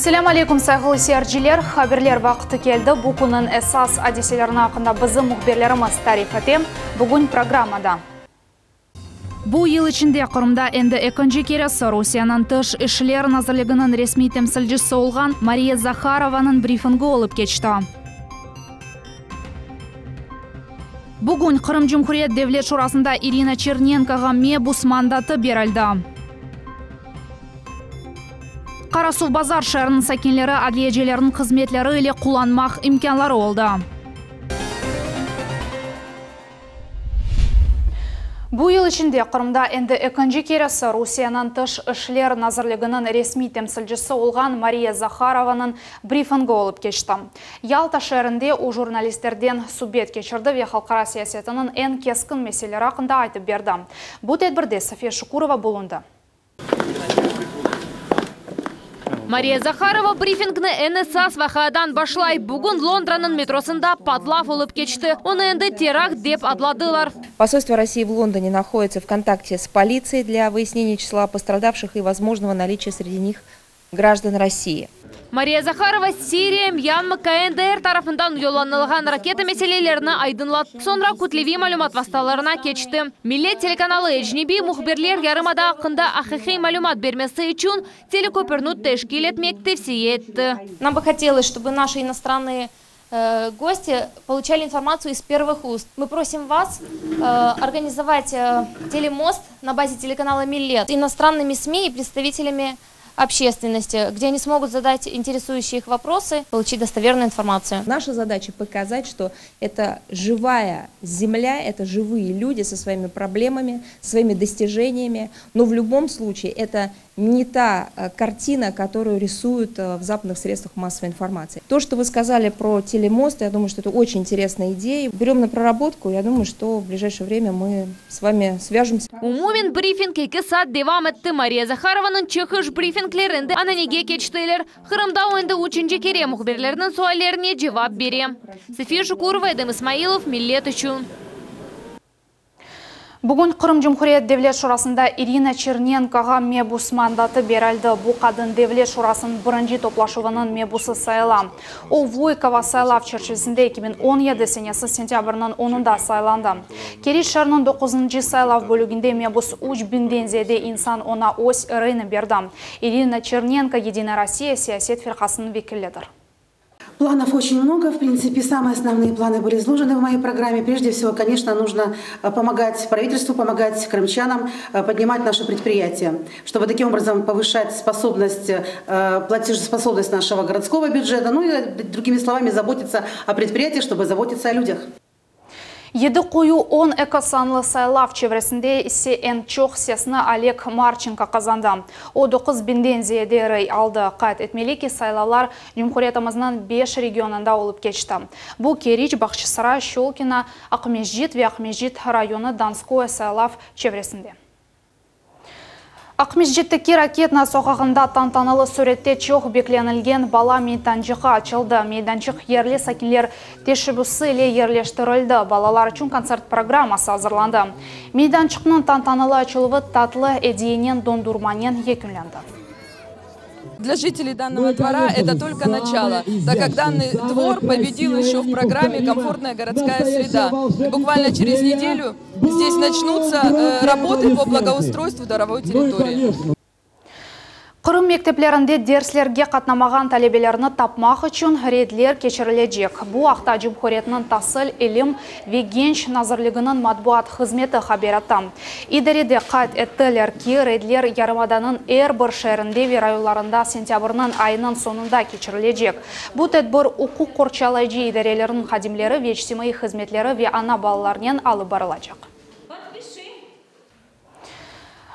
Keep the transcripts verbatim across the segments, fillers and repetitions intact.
Selâm aleyküm, sayğılı seyirciler. Haberler vaqtı keldi. Bu künniñ esas adiselerini aqqında bizim mühbirlerimiz tarif ete. Bugün programmada. Bu yıl içinde Qırımda endi ekinci keresi Rusiyeniñ Tış işler nazirliginiñ resmiy temsilcisi olğan Mariya Zaharovanıñ brifingi olıp keçti. Bugün Qırım Cumhuriyet Devlet Şurasında İrina Çernenkoğa mebus mandatı berildi. Qarasuvbazar şeeriniñ sakinleri adliyecilerniñ hızmetleri ile qullanmaq imkânları oldı. Bu yıl içinde Qırımda endi ekinci keresi Rusiyeniñ Tış işler nazirliginiñ resmiy temsilcisi olğan Mariya Zaharovanıñ brifingi olıp keçti. Yalta şeerinde o jurnalistlerden subet keçirdi ve halqara siyasetiniñ eñ keskin meseleleri aqqında aytıp berdi. Bu tedbirde Safiye Şukurova bulundı. Mariya Zaharova brifingni eñ esas vaqiadan başlay. Bugün Londranıñ metrosında patlav olıp keçti. Onı endi terakt dep adladılar. Посольство России в Лондоне находится в контакте с полицией для выяснения числа пострадавших и возможного наличия среди них граждан России. Mariya Zaharova Siriya, Myanma, K N D R tarafından yollanılğan raketa meselelerini aydınlattı. Soñra kütleviy malümat vastalarına keçti. Millet telekanalı ecnebiy mühbirler yarımada aqqında aqiqiy malümat bermesi içün teleköpürni teşkil etmek tevsiye etti. Нам бы хотелось, чтобы наши иностранные э, гости получали информацию из первых уст. Мы просим вас э, организовать э, телемост на базе телеканала «Миллет» с иностранными СМИ и представителями общественности, где они смогут задать интересующие их вопросы, получить достоверную информацию. Наша задача показать, что это живая земля, это живые люди со своими проблемами, своими достижениями, но в любом случае это не та э, картина, которую рисуют э, в западных средствах массовой информации. То, что вы сказали про телемост, я думаю, что это очень интересная идея. Берем на проработку, я думаю, что в ближайшее время мы с вами свяжемся. Umumen brifing eki saat devam etti. Mariya Zaharovanıñ çıqış brifingleri endi ananege keçtiler. Qırımda o endi üçünci kere mühbirlerniñ suallerine cevap bere. Safiye Şukurova, Edem İsmailov, Millet içün. Bugün Qırım Cumhuriyet Devlet Şurasında İrina Çernenkoğa mebus mandatı berildi. Bu qadın Devlet Şurasınıñ birinci toplaşuvınıñ mebusı sayıla. O Voykova saylav çerçivesinde eki biñ on yedi senesi sentâbrniñ onunda saylandı. Keriç şeeriniñ doquzıncı saylav bölüginde mebus üç biñden ziyade insan oña öz reyini berdi. İrina Çernenko Yedinaya Rossiya siyaset firqasınıñ vekilidir. Планов очень много. В принципе, самые основные планы были изложены в моей программе. Прежде всего, конечно, нужно э, помогать правительству, помогать крымчанам э, поднимать наши предприятия, чтобы таким образом повышать способность, э, платежеспособность нашего городского бюджета, ну и, другими словами, заботиться о предприятиях, чтобы заботиться о людях. Yedi Quyu on eki sanlı saylav çevresinde ise eñ çoq sesni Oleg Marçenko qazandı. O doquz biñden ziyade rey aldı. Qayd etmeli ki, saylavlar Cumhuriyetimizniñ beş regionında olıp keçti. Bu Keriç, Bağçasaray, Şçolkino, Aqmescit ve Aqmescit rayonı Donskoye saylav çevresinde. Aqmescitteki Raketnaya soqağında tantanalı sürette çoq beklenilgen bala meydançığı açıldı. Meydançıq yerli sakinler teşebbüsi ile yerleştirildi. Balalar içün kontsert programması azırlandı. Meydançıqnıñ tantanalı açıluvı tatlı ediyenen dondurmanen yekünlendi. Для жителей данного двора это только начало, так как данный двор победил еще в программе «Комфортная городская среда». И буквально через неделю здесь начнутся э, работы по благоустройству дворовой территории. Qırım mekteplerinde derslerge qatnamağan talebelerni tapmaq içün reydler keçirilecek. Bu aqta Cumhuriyetniñ tasil, ilim ve genç nazirliginiñ matbuat hızmeti haber etti. İdarede qayd ettiler ki, reydler yarımadanıñ er bir şeerinde ve rayonlarında sentâbrniñ ayınıñ soñunda keçirilecek. Bu tedbir uquq qorçalayıcı idareleriniñ hadimleri ve içtimaiy hızmetleri ve ana balalarnen alıp barılacaq.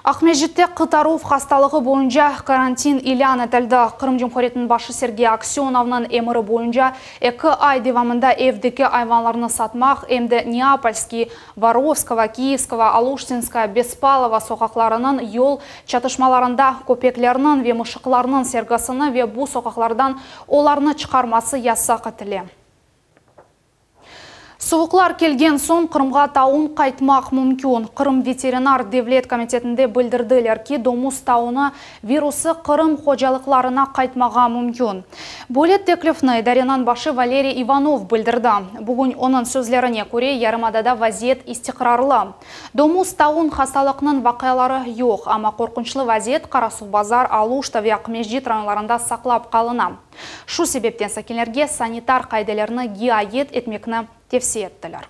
Aqmescitte qıtaruv hastalığı boyunca karantin ilân etildi. Qırım Cumhuriyetiniñ başı Sergey Aksönovnıñ emiri boyunca eki ay devamında evdeki ayvanlarnı satmaq, em de Neapolskiy, Vorovskogo, Kiyevskogo, Aluştinskaya, Bespalova soqaqlarınıñ yol çatışmalarında köpeklerniñ ve mışıqlarnıñ sergisini ve bu soqaqlardan olarnı çıqarması yasaq etile. Suvuqlar kelgen soñ Qırımğa taun qaytmaq mümkün. Qırım veterinar devlet komitetinde bildirdiler ki, domuz taunı virusı Qırım hocalıqlarına qaytmağa mümkün. Böyle teklifni idareniñ başı Valeriy Ivanov bildirdi. Bugün onıñ sözlerine köre, yarımadada vaziyet istiqrarlı. Domuz taun hastalıqnıñ vaqiaları yoq, amma qorqunçlı vaziyet Qarasuvbazar, Aluşta ve Aqmescit rayonlarında saqlap qalına. Şu sebepten sakinlerge sanitar qaidelerni riayet etmekni tevsiye ettiler.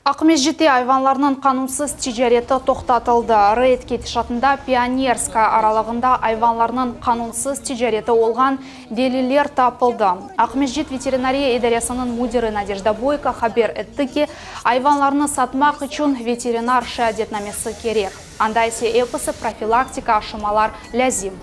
Aqmescitte ayvanlarnıñ qanunsız ticareti toqtatıldı. Reyd ketişatında Pionerskaya aralığında ayvanlarnıñ qanunsız ticareti olğan deliller tapıldı. Aqmescit veterinariya idaresiniñ müdiri Nadejda Boyko haber etti ki, ayvanlarnı satmaq içün veterinar şeadetnamesi kerek. Anda ise episi profilaktika aşılamalar lâzim.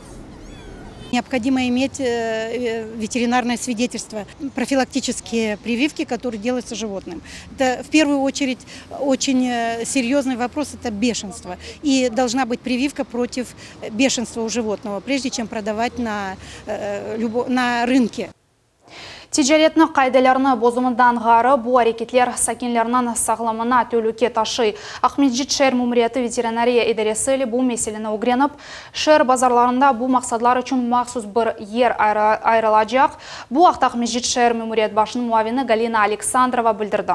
Необходимо иметь э, э, ветеринарное свидетельство, профилактические прививки, которые делаются животным. Это в первую очередь очень э, серьезный вопрос – это бешенство. И должна быть прививка против бешенства у животного, прежде чем продавать на, на рынке. Ticaretniñ qaidelerini bozuvından ğayrı bu areketler sakinlerniñ sağlığına telüke taşıy. Aqmescit şeer memuriyeti veterinariya idaresi bu meseleni ögrenip, şeer bazarlarında bu maqsatlar içün mahsus bir yer ayırılacaq. Bu aqta Aqmescit şeer memuriyet başınıñ muavini Galina Александрова bildirdi.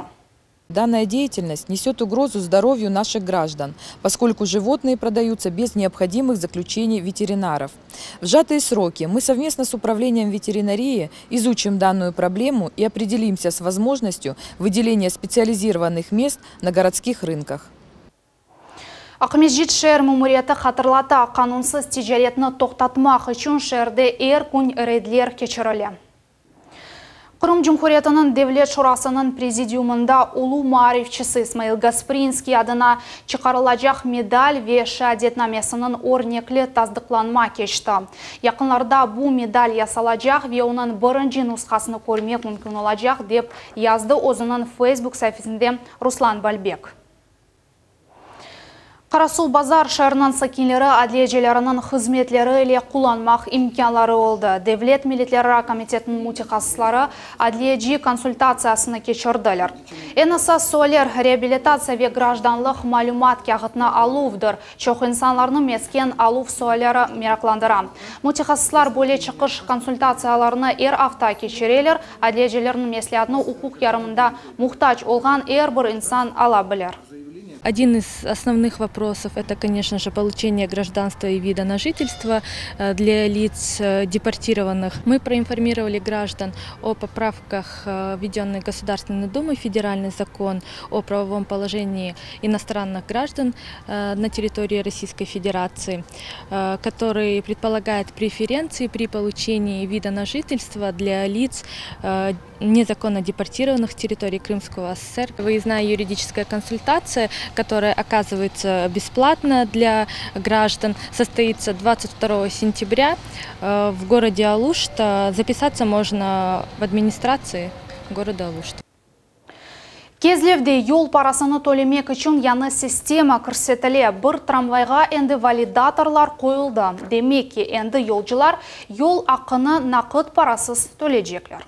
Данная деятельность несет угрозу здоровью наших граждан, поскольку животные продаются без необходимых заключений ветеринаров. В сжатые сроки мы совместно с управлением ветеринарии изучим данную проблему и определимся с возможностью выделения специализированных мест на городских рынках. Aqmescit şeer memuriyeti hatırlata, qanunsız ticaretni toqtatmaq içün şeerde er kün reydler keçirile. Qırım Cumhuriyetiniñ Devlet Şurasınıñ prezidiumında ulu maarifçisi İsmail Gasprinskiy adına çıqarılacaq medal ve şeadetnamesiniñ örnekli tasdıqlanma keçti. Yaqınlarda bu medal yasalacaq ve onıñ birinci nushasını körmek mümkün olacaq, dep yazdı özüniñ Facebook saifesinde Ruslan Balbek. Qarasuvbazar şeeriniñ sakinleri adliyecileriniñ hızmetleri ile qullanmaq imkânları oldı. Devlet milletlerara komitetiniñ mütehassısları adliyeci konsultatsiyasını keçirdiler. Eñ esas sualler reabilitatsiya ve grajdanlıq malümat kâğıtını aluvdır. Çoq insanlarnı mesken aluv sualleri meraqlandıra. Mütehassıslar böyle çıqış konsultatsiyalarını er afta keçireler. Adliyecilerniñ mesleatını uquq yardımına muhtac olğan er bir insan ala bilir. Один из основных вопросов – это, конечно же, получение гражданства и вида на жительство э, для лиц э, депортированных. Мы проинформировали граждан о поправках, э, введенных Государственной Думой в Федеральный закон о правовом положении иностранных граждан на территории Российской Федерации, который предполагает преференции при получении вида на жительство для лиц, незаконно депортированных с территории Крымского С С С Р. Выездная юридическая консультация, которая оказывается бесплатно для граждан, состоится двадцать второго сентября э, в городе Алушта. Записаться можно в администрации города Алушта. Kezlevde yol parasını tölemek içün yañı sistema kirsetile. Bir tramvayğa endi validatorlar qoyuldı. Demek ki, endi yolcular yol aqını naqıt parasız tölecekler.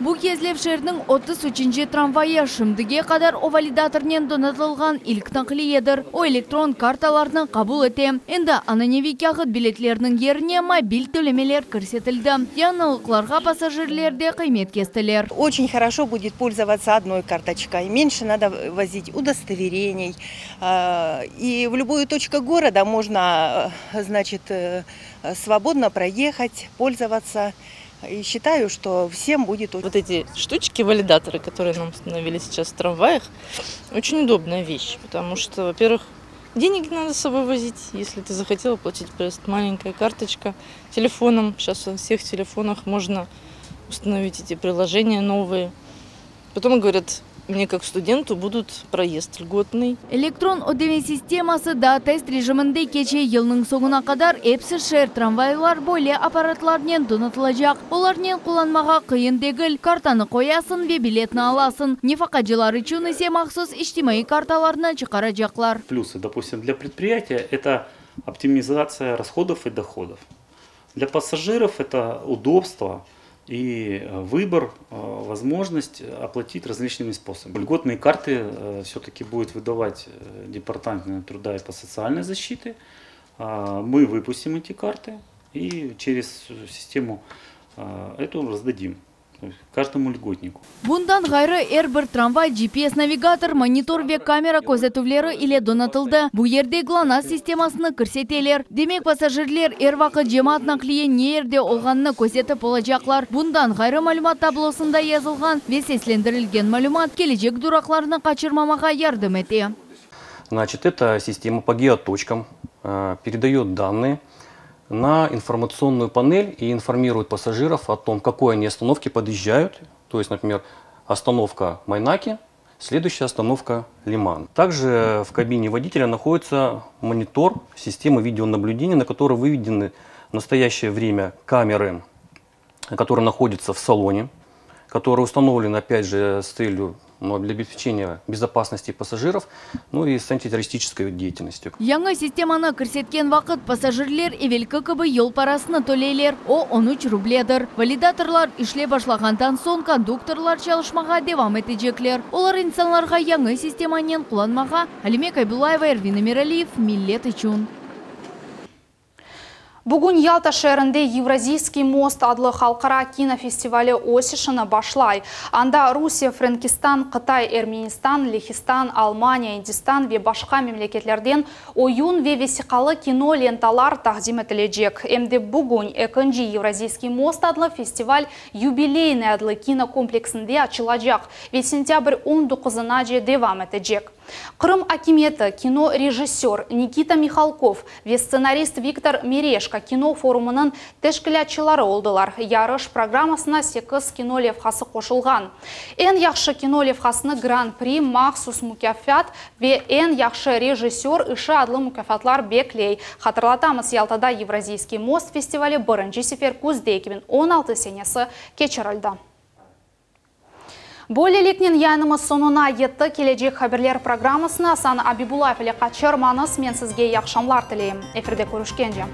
Bu Kezlev şeeriniñ otuz üçünci tramvayı. Şimdige qadar o validatornen donatılğan ilk naqliyedir. O elektron kartalarnı qabul ete. Endi ananeviy kâğıt biletlerniñ yerine mobil tölemeler kirsetildi. Yañılıqlarğa passajirler de qıymet kestiler. Очень хорошо будет пользоваться одной карточкой. Меньше надо возить удостоверений. И в любую точку города можно, значит, э, свободно проехать, пользоваться. И считаю, что всем будет. Вот эти штучки, валидаторы, которые нам установили сейчас в трамваях, очень удобная вещь, потому что, во-первых, денег не надо с собой возить, если ты захотел оплатить проезд, маленькая карточка телефоном. Сейчас во всех телефонах можно установить эти приложения новые. Потом говорят, мне как студенту будут проезд льготный. Elektron ödeme sisteması da test rejiminde keçe. Yılnıñ soñuna qadar episi şeer tramvaylar böyle apparatlarnen donatılacaq. Olarnen qullanmağa qıyın degil. Kartanı qoyasıñ ve biletni alasıñ. Nefaqacılar içün ise mahsus içtimaiy kartalarnı çıqaracaqlar. Плюсы, допустим, для предприятия это оптимизация расходов и доходов. Для пассажиров это удобство. И выбор, возможность оплатить различными способами. Льготные карты все-таки будет выдавать Департамент труда и по социальной защите. Мы выпустим эти карты и через систему эту раздадим каждому льготнику. Bundan ğayrı er bir tramvay G P S-navigator, monitor ve kamera közetüvleri ile donatıldı. Bu yerde GLONASS sistemasını kirseteler. Demek, passajirler er vaqıt cemaat naqliye ne yerde olğanını közetip olacaqlar. Bundan ğayrı malümat tablosında yazılğan ve seslendirilgen malümat kelecek duraqlarnı qaçırmamağa yardım ete. Значит, эта система по геоточкам э, передает данные на информационную панель и информирует пассажиров о том, к какой они остановке подъезжают. То есть, например, остановка Майнаки, следующая остановка Лиман. Также в кабине водителя находится монитор системы видеонаблюдения, на который выведены в настоящее время камеры, которые находятся в салоне, которые установлены, опять же, с целью, ну, для обеспечения безопасности пассажиров, ну и с антитеррористической деятельностью. Yañı sistemanı kirsetken vaqıt passajirler evelki kibi yol parasını töleyler. O on üç rubledir. Validatorlar işlep başlağandan soñ konduktorlar çalışmağa devam etecekler. Olar insanlarğa yañı sistemanen qullanmağa. Alime Kaybullayeva, Ervin Emiraliyev, Millet içün. Bugün Yalta şeerinde «Евразийский мост» adlı halqara kinofestivali öz işini başlay. Anda Rusiye, Frenkistan, Qıtay, Ermenistan, Lehistan, Almaniya, Indistan ve başqa memleketlerden oyun ve vesiqalı kino lentalar taqdim etilecek. Em de bugün ekinci «Евразийский мост» adlı festival «Юбилейный» adlı kinokompleksinde açılacaq ve sentâbr on doquzınace devam etecek. Qırım akimiyeti, kino rejissör Nikita Mihalkov ve stsenarist Viktor Mereşko kino forumınıñ teşkilâtçıları oldılar. Yarış programmasına sekiz kino levhası qoşulğan. Eñ yahşı kino levhasını Gran-pri, mahsus mukâfat ve eñ yahşı rejissör işi adlı mukâfatlar bekley. Hatırlatamız, Yaltada «Евразийский мост» festivali birinci sefer küzde eki biñ on altı senesi keçirildi. Böyleliknen yayınımız soñuna yetti. Kelecek haberler programmasını Asan Abibullayev ile qaçırmañız. Men sizge yahşı aqşamlar tileyim. Efirde körüşkence.